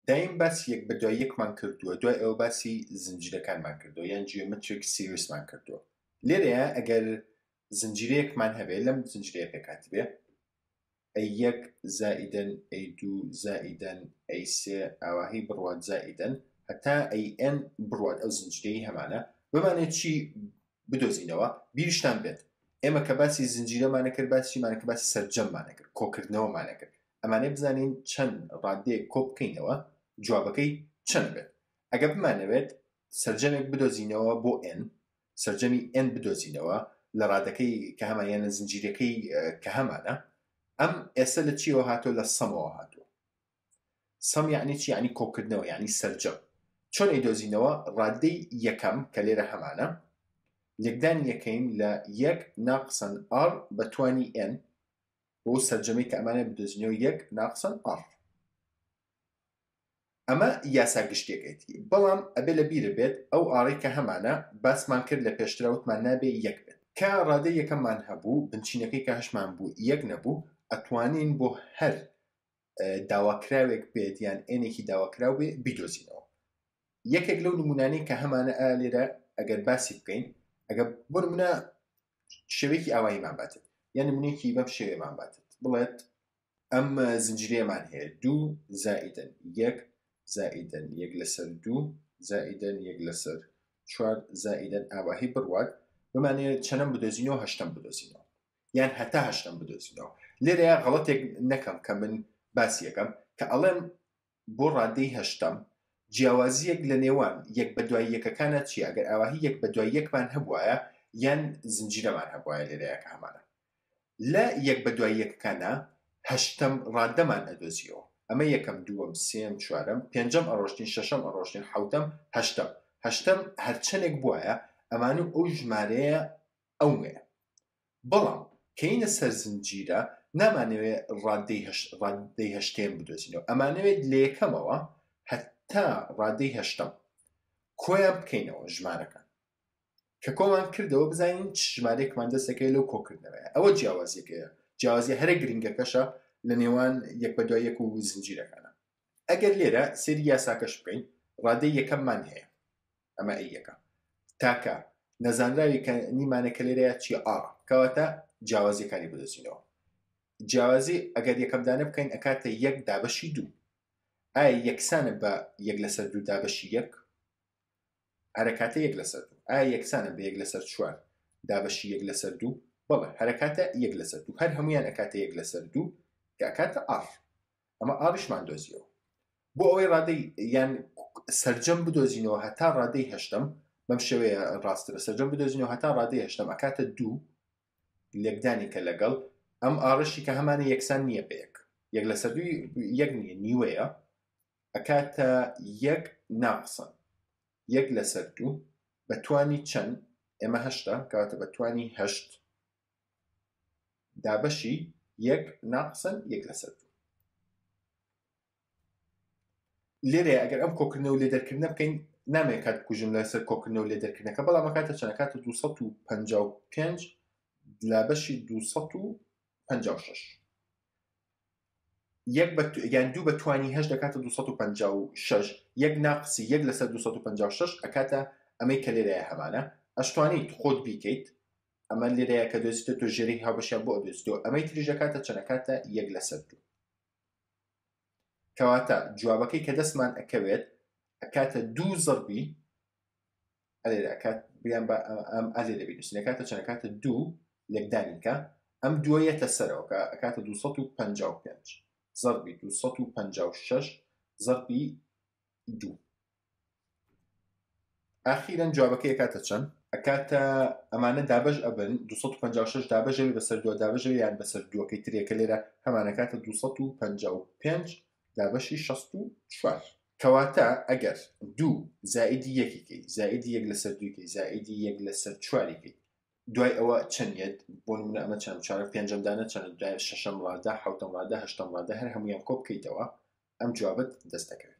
دایم باسی یەک بە دوای یەکمان کردووە دوای ئەوە باسی زنجیرەکانمان کردووە یان geometric series مان کردووە لێرەیە ئەگەر زنجیرەیەکمان هەبێ لەم زنجیرەیە پێکهاتبێ A یەک زائیدەن A دوو زائیدەن A سێ ئاواهی بڕوات زائیدەن هەتا A n بڕوات ئەو زنجیرەی هەمانە بمانێت چی بدۆزینەوە بیرشتان بێت ئێمە کە باسی زنجیرەمانە کرد باسی چیمانە کرد باسی سەرجەممانە کرد کۆکردنەوەمانە کرد ئەمانەی بزانین چەند ڕادەیەک کۆ بکەینەوە جوابەکەی چەند بێت ئەگە بمانەوێت سەرجەمێک بدۆزینەوە بۆ n سەرجەمی n بدۆزینەوە لە ڕادەکەی کە هەمان یان لە زنجیرەکەی کە هەمانە ئەم ئێستا لە چیەوە هاتووە لە sum ەوە هاتووە sum یعنی چی یعنی کۆکردنەوە یعنی سەرجەم چۆن ئەیدۆزینەوە ڕادەی یەکەم کە لێرە هەمانە لێکدانی یەکەین لە یەک ناقسەن r بە توانی n بۆ سەرجەمەی کە ئەمانە بدۆزینەوە یەک ناقسەن r ئەمە یاسا گشتیەکەیتی بەڵام ئەبێ لە بیرت بێت ئەو r ەی کە هەمانە باسمان کرد لە پێشترا وتمان نابێ یەک بێت کە ڕادەی یەکەممان هەبوو بنچینەکەی کە هەشمان بوو یەک نەبوو ئەتوانین بۆ هەر داواکراوێک بێت یان n ێکی داواکراو بێ بیدۆزینەوە یەکێک لەو نمونانەی کە هەمانە ئا لێرە ئەگەر باسی بکەین ئەگەر بۆ نمونە شێوەیەکی ئاواییمان باتێت یان نمونەیەکی بەم شێوەیەمان باتێت بڵێت ئەم زنجیرەیەمان هەیە دوو زائیدەن یەک زائیدەن یەک لەسەر دوو زائیدەن یەک لەسەر چوار زائیدەن ئاواهی بڕوات بمانەوێت چەنەم بدۆزینەوە هەشتەم بدۆزینەوە یان هەتا هەشتەم بدۆزینەوە لێرەیە غەڵەتێک نەکەم کە من باسی یەکەم کە ئەڵێم بۆ ڕادەی هەشتەم جیاوازیەک لە نێوان یەک بە دوای یەکەکانە چیە ئەگەر ئاواهی یەک بە دوای یەکمان هەبوایە یان زنجیرەمان هەبوایە لێرەیە کە هەمانە لە یەک بە دوای یەکەکانا هەشتەم ڕادەمان ئەدۆزیەوە ئەمە یەکەم دووەم سێیەم چوارەم پێنجەم ئەڕۆشتین شەشەم ئەڕۆشتین حەوتەم هەشتەم هەشتەم هەرچەنێک بوایە ئەمان و ئەو ژمارەیە ئەوەیە بەڵام کەینە سەر زنجیرە نامانەوێ ڕادەی هەشت ڕادەی هەشتێن بدۆزینەوە ئەمانەوێت لە یەکەمەوە هەتا ڕادەی هەشتەم کۆیان بکەینەوە ژمارەکان کە کۆمان کردەوە بزانین چ ژمارەیەکمان دەستەکەی لەو کۆکردنەوەیە ئەوە جیاوازیەکەیە جیاوازی هەرە گرنگەکەشە لە نێوان یەک بە دوای یەک و زنجیرەکانە ئەگەر لێرە سێری یاساکەش بکەین ڕادەی یەکەممان هەیە ئەمە ئەی یەکە تاکە نەزانراوی کە نیمانە کە لێرەیە چیە r کەواتە جیاوازیەکانی بدۆزینەوە جیاوازی ئەگەر یەکەم دانە بکەین ئەکاتە یەک دابەشی دوو ئایا یەکسانە بە یەک لەسەر دوو دابەشی یەک هەرەکاتە یەک لەسەر دوو ئایا یەکسانە بە یەک لەسەر چوار دابەشی یەک لەسەر دوو بەڵێ هەرەکاتە یەک لەسەر دوو هەر هەمویان ئەکاتە یەک لەسەر دوو کە ئەکاتە r ئەمە r یشمان دۆزیەوە بۆ ئەوەی ڕادەی یان سەرجەم بدۆزینەوە هەتا ڕادەی هەشتەم بەم شێوەیە ڕاسترە سەرجەم بدۆزینەوە هەتا ڕادەی هەشتەم ئەکاتە دوو لێکدانی کە لەگەڵ ئەم r ەشی کە هەمانە یەکسان نییە بە یەک یەک لەسەر دووی یەک نییە نیوەیە ئەکاتە یەک ناقسە یەک لەسەر دوو بە توانی چەند ئێمە هەشتا کەواتە بە توانی هەشت دابەشی یەک ناقسەن یەک لەسەر دوو لێرەیە ئەگەر ئەم کۆکردنەوە لێ دەرکردنە بکەین نامەوێت کات بکوژم لەسەر کۆکردنەوە لێ دەرکردنەکە بەڵام ئەکاتە چەند ئەکاتە 255 لە بەشی 256 یەک بە یان دوو بە توانی هەشت دەکاتە 256 یەک ناقسی یەک لەسەر 256 ئەکاتە ئەمەی کە لێرەیە هەمانە ئەشتوانیت خۆت بیکەیت ئەمە لێرەیە کە دۆزیتە تۆ ژێرەی هاوبەشیان بۆ ئەدۆزیتەوە ئەمەی تریش دەکاتە چەند ئەکاتە یەک لەسەر دوو کەواتە جوابەکەی کە دەستمان ئەکەوێت ئەکاتە دوو زەربی ئەلێرە ئەکات بیان بە ئەم ئەلێرە بینوسین ئەکاتە چەند ئەکاتە دوو لێکدانی کە ئەم دووە یەتە سەرەوە کە ئەکاتە 255 زەربی 256 زەربی دوو ئاخیرەن جوابەکەی ئەکاتە چەند؟ ئەکاتە ئەمانە دابەش ئەبن 256 دابەش ئەبێ بەسەر دووە دابەش ئەبێ یان بەسەر دووەکەی ترێکە لێرە هەمان ئەکاتە 255 دابەشی 64 کەواتە ئەگەر دوو زائیدی یەکی کەی زائیدی یەک لەسەر دووی کەی زائیدی یەک لەسەر چواری کەی دوای ئەوە چەند یەت بۆ نمونە ئەمە چەند چوارەم پێنجەم دانە چەند دوای شەشەم ڕادە حوتەم ڕادە هەشتەم ڕادە هەر هەمویان کۆ بکەیتەوە ئەم جوابت دەست دەکەوێت.